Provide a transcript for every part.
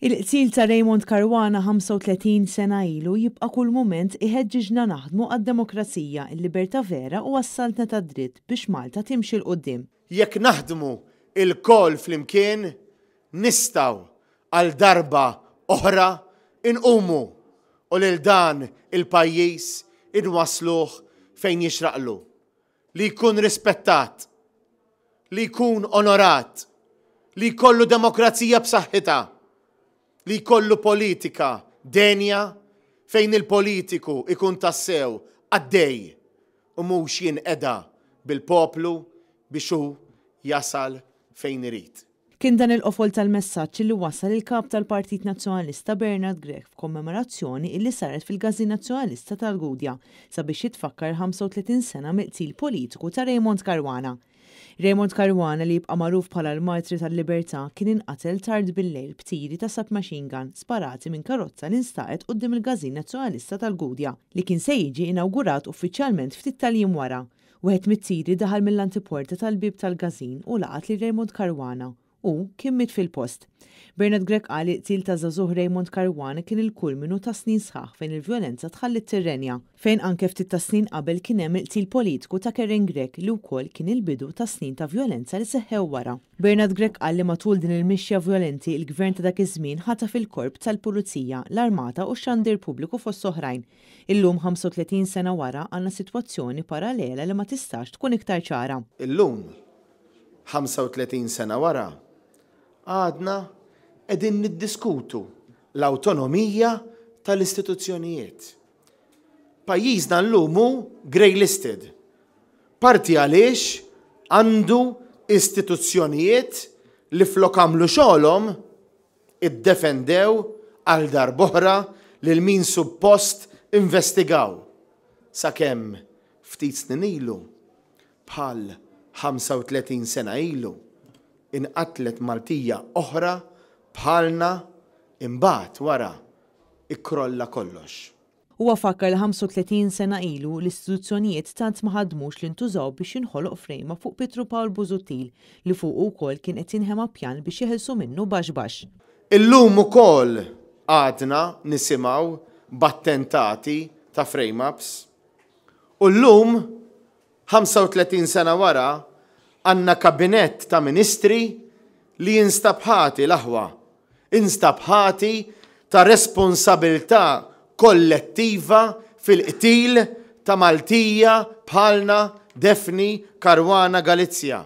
Il-qtil ta' Raymond Caruana 35 sena ilu jibqa' kull mument iħeġġiġna naħdmu għad-demokrazija, il-libertà vera u għas-saltna tad-dritt biex Malta timxi 'l quddiem. Jekk naħdmu lkoll flimkien nistgħu għal darba oħra nqumu u lil dan il-pajjiż inwassluh fejn jixraqlu. Li jkun rispettat, li jkun onorat, li jkollu demokrazija b'saħħitha, li jkollu politika denja fejn il-politiku ikun tassew qaddej u mhux jinqeda bil-poplu biex hu jasal fejn irid. Kien dan il-qofol tal-messaġġ illi wassal il-Kap tal-Partit Nazzjonalista Bernard Grech f'kommemorazzjoni illi saret fil-Każin Nazzjonalista tal-Gudja sabiex jitfakkar il-35 sena mill-qtil politiku ta' Raymond Caruana. Raymond Caruana li jibqa' magħruf bħala l-Martri tal-Libertà kien inqatel tard bil-lejl b'tiri ta' submachine gun sparati minn karozza li nstaqet quddiem il-Każin Nazzjonalista tal-Gudja li kien se jiġi inawgurat uffiċjalment ftit tal-jiem wara. Wieħed mit-tiri daħal mill-antiporta tal-bieb tal-każin u laqat lil Raymond Caruana. Hu kien miet fil-post. Bernard Grech qal li l-qtil taż-żagħżugħ Raymond Caruana kien il-kulminu ta' snin sħaħ fejn il-vjolenza tħalliet tirrenja. Fejn anke ftit tas-snin qabel kien hemm il-qtil politiku ta' Karen Grech li wkoll kien il-bidu ta' snin ta' vjolenza li seħħew wara. Bernard Grech qal li matul din il-mixja vjolenti il-Gvern ta' dak iż-żmien ħataf il-Korp tal-Pulizija, l-Armata u x-Xandir Pubbliku fost oħrajn. Illum, 35 sena wara, għandna sitwazzjoni paralela li ma tistax tkun iktar ċara. Illum, 35 sena wara, għadna qegħdin niddiskutu l-awtonomija tal-istituzzjonijiet. Pajjiżna llum hu grey listed. Parti għaliex għandu istituzzjonijiet li flok għamlu xogħolhom iddefendew għal darb'oħra lil min suppost investigaw, sakemm ftit snin ilu, bħal 35 sena ilu, inqatlet Maltija oħra bħalna imbagħad wara ikkrolla kollox. Huwa fakkar li 35 sena ilu, l-istituzzjonijiet tant ma ħadmux li ntużaw biex jinħoloq frame-up fuq Pietru Pawl Busuttil li fuqu wkoll kien qed jinħema pjan biex jeħilsu minnu baxx baxx. Illum ukoll għadna nisimgħu b'attentati ta' frame-ups. U llum, 35 sena wara, għandna kabinett ta' ministri li jinstab ħati, l-aħwa, instab ħati ta' responsabilità kollettiva fil-qtil ta' Maltija bħalna Daphne Caruana Galizia.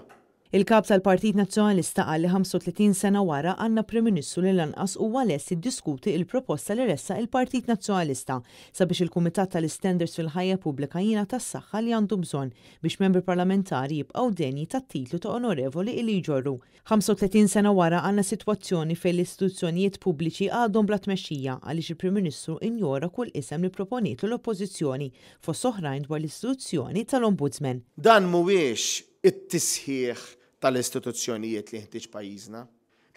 Il-Kap tal-Partit Nazzjonalista qal li 35 sena wara għandna Prim Ministru li lanqas huwa lest jiddiskuti il-proposta li ressaq il-Partit Nazzjonalista sabiex il-Kumitat tal-Istandards fil-Ħajja Pubblika jingħata s-saħħa li għandu bżonn biex membri parlamentari jibqgħu denji tat-titlu ta' onorevoli illi jġorru. 35 sena wara għandna sitwazzjoni fejn l-istituzzjonijiet pubbliċi għadhom bla tmexxija għaliex il-Prim Ministru injora kull isem li pproponietlu l-Oppożizzjoni, fost oħrajn dwar l-istituzzjoni tal-Ombudsman. Dan mhuwiex it-tisħiħ tal-istituzzjonijiet li jeħtieġ pajjiżna.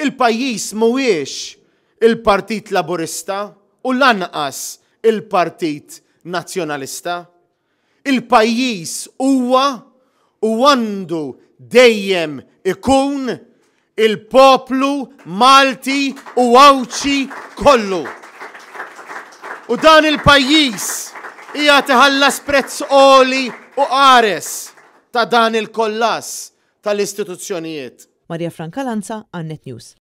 Il-pajjiż mhuwiex il-Partit Laburista u lanqas il-Partit Nazzjonalista. Il-pajjiż huwa u għandu dejjem ikun il-poplu Malti u Għawdxi kollu. U dan il-pajjiż qiegħed iħallas prezz għoli u qares ta' dan il-kollass tal-istituzzjonijiet. Maria Franca Lanza, għan-Net News.